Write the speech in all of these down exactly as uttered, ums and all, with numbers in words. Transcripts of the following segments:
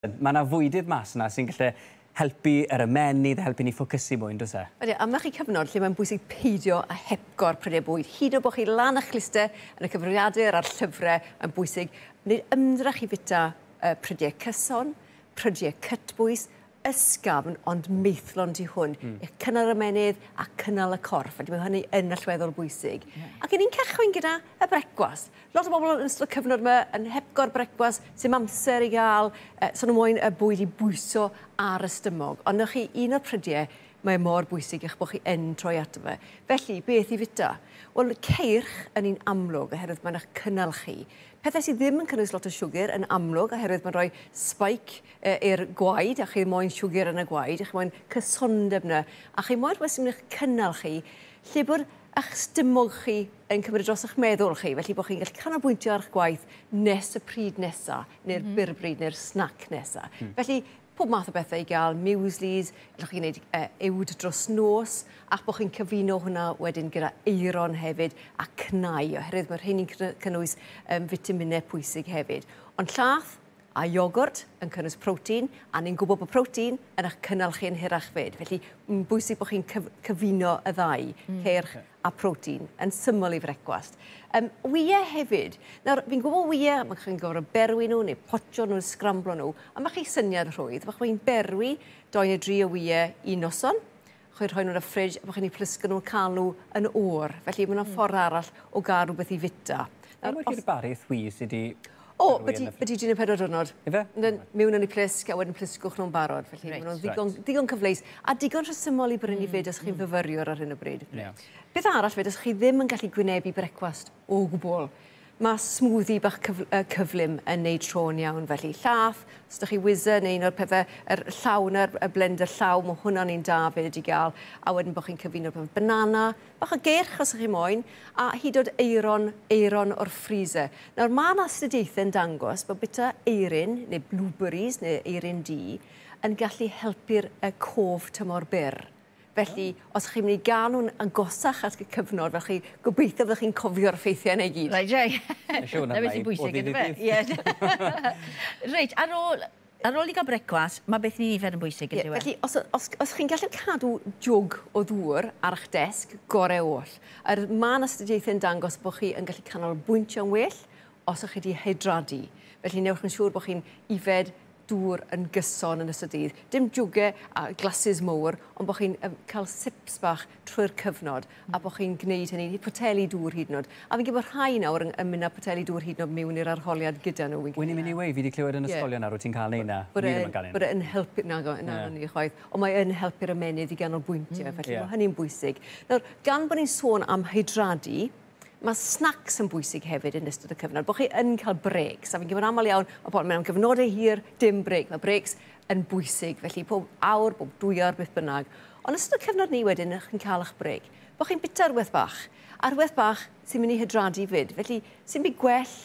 Mae yna fwydydd mas yna sy'n gallu helpu yr ymennydd, helpu ni ffocysu mwy, on'd oes e? Ydy, a mae chi cyfnod lle mae'n bwysig peidio a hepgor prydau bwyd. Hyd yn oed bod chi lan eich clustau yn y cyfrifiadur a'r llyfrau, mae'n bwysig wneud ymdrech i fwyta uh, prydau cyson, prydau cytbwys, ysgafn, ond maethlon tu hwn. Mm. I'ch cynnal yr ymennydd a cynnal y corff. Felly mae hynny yn allweddol bwysig. Yeah. Ac ni'n cychwyn gyda y brecwast. Lot o bobl yn ystod y cyfnod yma yn hepgor brecwast, sy'n amser i gael, eh, so nhw moyn y bwyd i bwyso ar y stymog. Ond 'na chi un o'r prydiau mae mor bwysig eich bod chi yn troi ato fe. Felly, beth i fwyta? Wel, ceirch yn un amlwg oherwydd mae'n eich cynnal chi. Pethau sydd ddim yn cynnwys lot o siwgr yn amlwg oherwydd mae'n rhoi spike i'r gwaed, a chi moyn siwgr yn y gwaed, a chi moyn cysondeb yna, a chi moyn rhywbeth sy'n mynd i'ch cynnal chi, lle bod eich stymog chi yn cymryd dros eich meddwl chi, felly bod chi'n gallu canolbwyntio ar eich gwaith nes y pryd nesa, neu'r mm -hmm. byrbryd, neu'r snack nesa. Mm. Felly, pob math o bethau i gael, mueslis, allwch chi wneud uh, uwd dros nos, ac bod chi'n cyfuno hwnna wedyn gyda eiron hefyd a cnau, oherwydd mae'r rheini'n cynnwys um, fitaminau pwysig hefyd. Ond llath a iogwrt yn cynnwys protein, a ni'n gwybod bod protein yn eich cynnal chi yn hirach fyd. Felly, mae'n bwysig bod chi'n cyf cyfuno y ddau, mm. ceirch a protein, yn syml i frecwast. Um, wyau hefyd. Nawr, fi'n gwybod wyau, mae chi'n gorfod berwi nhw, neu potio nhw, sgramblo nhw, a mae chi syniad rhwydd. Mae chi'n berwi doi neu dri o wyau un noson, chi'n rhoi nhw'n y ffridge, a chi'n eu plisgo nhw'n cael nhw yn oer. Felly, mae yna mm. ffordd arall o gael rhywbeth i fwyta. Nawr, os... Barith wy sydd wedi... O, byti dri neu pedwar diwrnod. Ife? Mewn yn eu plisg a wedyn plisgwch nhw'n barod. Felly right. maen nhw'n ddigon, right. digon cyfleus a digon rhesymol i brynu mm. fyd os chi'n mm. fyfyriwr ar hyn o bryd. Yeah. Beth arall fyd, os chi ddim yn gallu gwynebu brecwast o gwbl, mae smoothie bach cyf cyflym yn neud tro'n iawn. Felly llath, os ydych chi whizzer neu un o'r pethau, yr llaw na'r y blender llaw, mae hwnna'n un da fyd i gael. A wedyn bod chi'n cyfuno pethau banana, bach o geirch os ydych chi moyn, a hyd oed eiron, eiron o'r freezer. Nawr, mae yna astudiaethau yn dangos bod bwyta eirin, neu blueberries, neu eirin du, yn gallu helpu'r cof tymor byr. Felly, os chi'n mynd i gael nhw'n agosach at y cyfnod, fel chi gobeithio fyddwch chi'n cofio'r ffeithiau yna i gyd. Reit, reit. Na beth sy'n bwysig, ydy fe? Reit, ar ôl, ar ôl i gael brecwast, mae beth ni'n yfed yn bwysig, ydy e? Felly, os, os, os chi'n gallu cadw jwg o ddŵr ar eich desg, gorau oll. Er, Mae'n astudiaethau'n dangos bod chi yn gallu canolbwyntio'n well os ych chi wedi hydradu. Felly, newch yn siŵr bod chi'n yfed dŵr yn gyson yn ystod dydd. Dim jwgau a glasses mowr, ond bod chi'n cael sips bach trwy'r cyfnod a bod chi'n gwneud hynny, poteli dŵr hyd yn oed. A fi'n gwybod rhai nawr yn, yn mynd â poteli dŵr hyd yn oed mewn i'r arholiad gyda nhw. Wy'n i'n mynd i wei, fi wedi clywed yn ysgolion nawr, wyt ti'n cael neud na? Bod e'n helpu, na, na, ni chwaith, ond mae yn helpu'r ymennydd i ganolbwyntio, felly yeah. mae hynny'n bwysig. Nawr, gan bod ni'n sôn am hydradu, mae snacks yn bwysig hefyd yn ystod y cyfnod, bod chi yn cael breaks. A fi'n gwybod aml iawn, mae pobl mewn cyfnodau hir, dim break. Mae breaks yn bwysig, felly pob awr, bob dwy awr, beth bynnag. Ond ystod y cyfnod ni wedyn, chi'n cael eich break. Bod chi'n bwyta rhywbeth bach, a rhywbeth bach sy'n mynd i hydradu fyd. Felly, sy'n byd gwell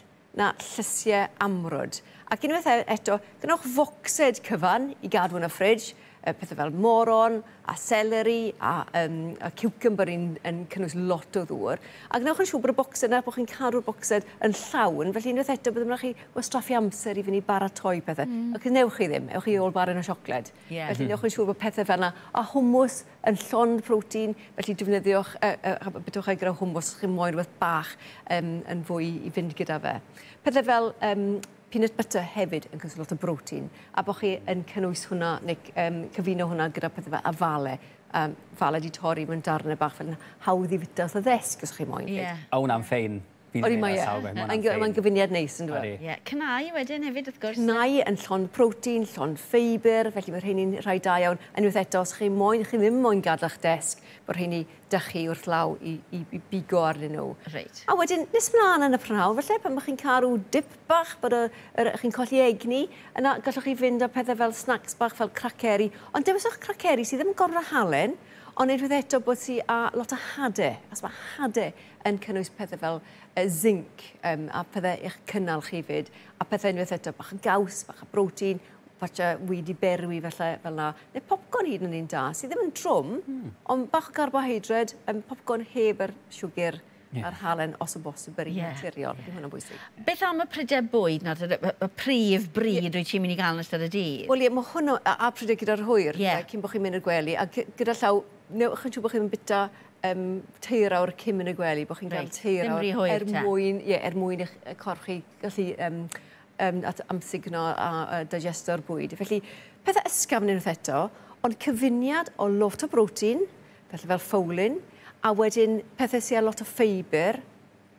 na llysiau amrwd. Ac unwaith eto, gwnewch focsed cyfan i gadw yn y ffridge, pethau fel moron a celery a, um, a cucumber yn, yn cynnwys lot o ddŵr. A gwnewch yn siŵr bod y bocsed yna, bod chi'n cadw'r bocsed yn llawn, felly unwaith eto bydd ymlaen chi wastraffu amser i fynd i baratoi pethau. Mm. Ac newch chi ddim, ewch chi ôl baren o siocled. Yeah. Felly newch yn siŵr bod pethau fel yna. A hummus yn llond protein, felly defnyddiwch, uh, uh, bytwch e gyda hummus, chi'n moyn rhywbeth bach um, yn fwy i fynd gyda fe. Pethau fel um, peanut butter hefyd yn cynnwys lot o protein, a bod chi yn cynnwys hwnna, neu um, cyfuno hwnna gyda pethau fel afale. Um, fale di torri mewn darnau bach fel hawdd i fwyta wrth y ddesg os chi moyn. Yeah. O, hwnna'n ffein. Odi mae e. Mae'n gyfuniad neis yn dweud. Yeah. Cnau wedyn hefyd, wrth gwrs. Cnau yn llond protein, llond ffeibr, felly mae rheini'n rhai da iawn. A unwaith eto, os chi moyn, chi ddim moyn gadael eich desg, bod rheini dych chi wrth law i, i, i bigo arnyn nhw. Reit. A wedyn, nes mlaen yn y prynhawn, felly, pan chi'n cael rhyw dip bach, bod y, yr, chi'n colli egni, yna gallwch chi fynd â pethau fel snacks bach, fel craceri. Ond dewiswch craceri sydd ddim yn gorfod halen, ond unwaith eto bod si â lot o hadau, as mae hadau yn cynnwys pethau fel uh, zinc um, a pethau i'ch cynnal chi fyd, a pethau unwaith eto bach o gaws, bach o protein, falle wedi berwi felly, fel na, neu popcorn hyd yn un da, sydd ddim yn trwm, mm. ond bach o carbohydrate, um, popcorn heb yr siwgr yeah. a'r halen os o bosib yr un Ie. naturiol. Yeah. Hwnna'n bwysig. Beth am y prydau bwyd nawr, y, y, y prif bryd yeah. wyt ti'n mynd i gael yn ystod y dydd? Wel ie, mae hwnnw, a, a prydau gyda'r hwyr, Ie. yeah. cyn bod chi'n mynd i'r gwely, a gyda llaw, newch yn siŵr bod chi'n byta um, teir awr cyn mynd i'r gwely, bod chi'n cael Reit, teir ddim awr rhy hwyr er te. mwyn, ie, er mwyn i'ch y corff chi gallu um, um, at amsugno a, a digesto'r bwyd. Felly, pethau ysgafn unwaith eto, ond cyfuniad o lot o brotein, felly fel ffowlyn, a wedyn pethau sydd â lot o ffeibr,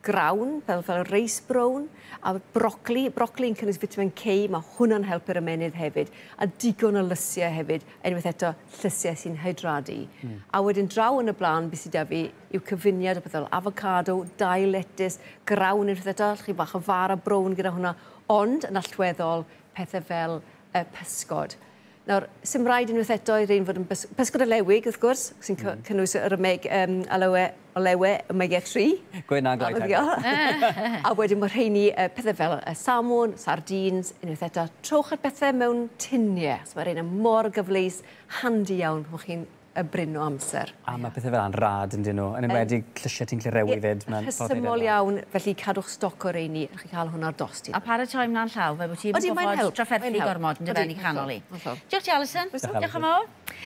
grawn, fel, fel reis brown, a brocoli. Brocoli yn cynnwys vitamin K, mae hwnna'n helpu'r ymennydd hefyd, a digon o lysiau hefyd, unwaith eto llysiau sy'n hydradu. Mm. A wedyn draw yn y blaen, beth sydd 'da fi, yw cyfuniad o bethau fel avocado, dail letys, grawn unwaith eto, allwch chi bach o fara brown gyda hwnna, ond yn allweddol pethau fel uh, pysgod. Nawr, sy'm rhaid unwaith eto i rein fod yn bys pysgod olewig, wrth gwrs, sy'n mm. cynnwys yr omeg, um, aloe, olewe omega tri. Gwyn a gloi A A wedyn mae rheini uh, pethau fel uh, salmon, sardines, unwaith eto, trowch ar bethau mewn tiniau. So mae rheina mor gyfleus, handi iawn pan chi'n y brin o amser. A mae pethau fel yna'n rad yn dyn nhw, yn enwedig llysiau ti'n gallu rewi fyd. Ma'n ffordd i Rhesymol neud e. iawn, felly cadwch stoc o reini, chi cael hwnna ar dost. A paratoi mlaen llaw, fel bod ti'n Odi, mae'n gorfod help, trafferthu mae'n help. gormod yn dy Odi, ben i canol i. hollol, hollol. Diolch ti, Alison. Diolch, Diolch yn fawr.